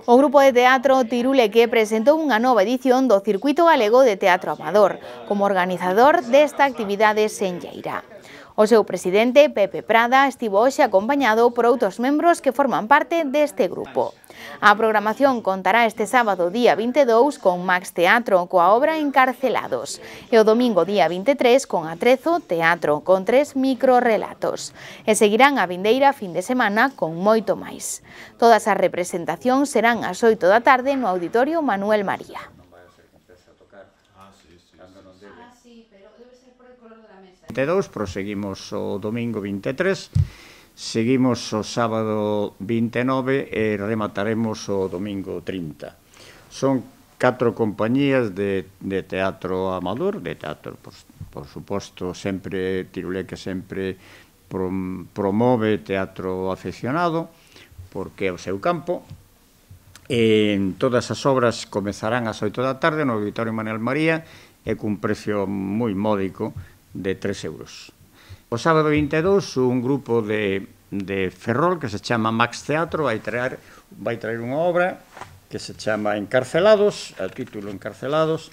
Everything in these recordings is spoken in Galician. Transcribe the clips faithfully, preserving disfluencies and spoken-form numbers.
O grupo de teatro Tiruleque presentou unha nova edición do Circuito Galego de Teatro Amador, como organizador desta actividade senlleira. O seu presidente, Pepe Prada, estivo hoxe acompañado por outros membros que forman parte deste grupo. A programación contará este sábado día vinte e dous con Max Teatro coa obra Encarcelados e o domingo día vinte e tres con Atrezo Teatro con tres microrelatos. E seguirán a vindeira fin de semana con moito máis. Todas as representacións serán ás oito da tarde no Auditorio Manuel María. vinte e dous, proseguimos o domingo vinte e tres, seguimos o sábado vinte e nove e remataremos o domingo trinta. Son catro compañías de, de teatro amador, de teatro, por, por suposto, sempre, Tiruleque sempre prom, promove teatro aficionado, porque é o seu campo. E todas as obras comezarán ás oito da tarde no Auditorio Manuel María e cun precio moi módico de tres euros. O sábado vinte e dous, un grupo de, de Ferrol que se chama Max Teatro vai traer, vai traer unha obra que se chama Encarcelados, o título Encarcelados,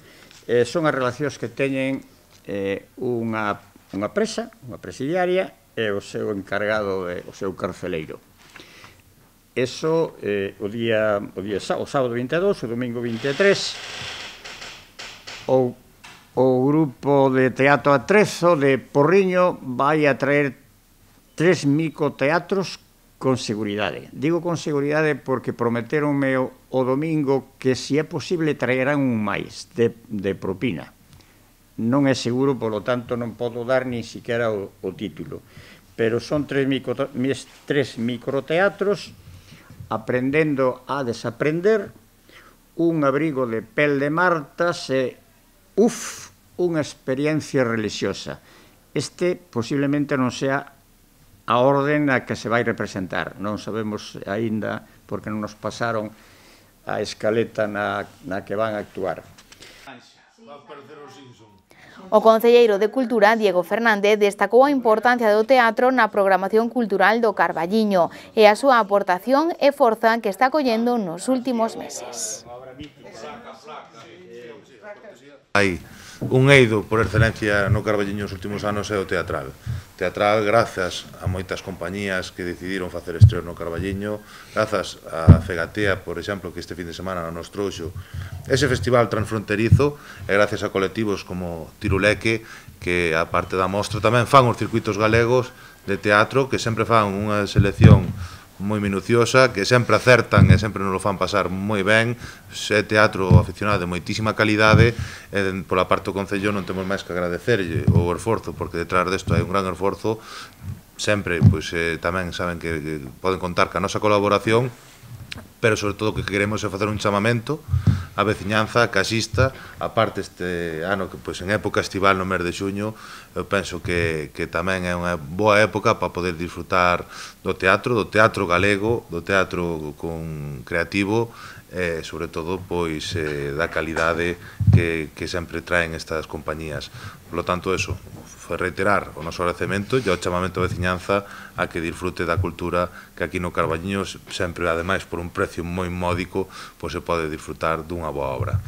eh, son as relacións que teñen eh, unha, unha presa, unha presidiaria, e o seu encargado, de, o seu carceleiro. Eso eh, o día o, día, o sábado vinte e dous, o domingo vinte e tres, o O grupo de teatro Atrezo de Porriño vai a traer tres microteatros con seguridade. Digo con seguridade porque prometeronme o, o domingo que, se é posible, traerán un máis de, de propina. Non é seguro, polo tanto, non podo dar ni siquiera o, o título. Pero son tres, micro, tres microteatros aprendendo a desaprender, un abrigo de pel de martas e uf, unha experiencia religiosa. Este posiblemente non sea a orden a que se vai representar. Non sabemos aínda, porque non nos pasaron a escaleta na, na que van a actuar. O concelleiro de Cultura, Diego Fernández, destacou a importancia do teatro na programación cultural do Carballiño e a súa aportación e forza que está collendo nos últimos meses. Hai un eido por excelencia no Carballiño nos últimos anos é o teatral. Teatral grazas a moitas compañías que decidiron facer estreos no Carballiño, grazas a Fegatea, por exemplo, que este fin de semana nos trouxo ese festival transfronterizo, e gracias a colectivos como Tiruleque, que a parte da mostra tamén fan os circuitos galegos de teatro, que sempre fan unha selección moi minuciosa, que sempre acertan e sempre nos lo fan pasar moi ben. É teatro aficionado de moitísima calidade e pola parte do Concello non temos máis que agradecerlle o esforzo, porque detrás desto hai un gran esforzo. Sempre, pois, eh, tamén saben que, que poden contar ca nosa colaboración, pero sobre todo o que queremos é facer un chamamento a veciñanza que asista, aparte este ano que pois en época estival no mes de xuño, eu penso que, que tamén é unha boa época para poder disfrutar do teatro, do teatro galego, do teatro con creativo e sobre todo pois eh, da calidade que, que sempre traen estas compañías. Por lo tanto, eso, foi reiterar o noso agradecemento e o chamamento a veciñanza a que disfrute da cultura que aquí no Carballiño sempre, ademais, por un precio moi módico, pois se pode disfrutar dunha boa obra.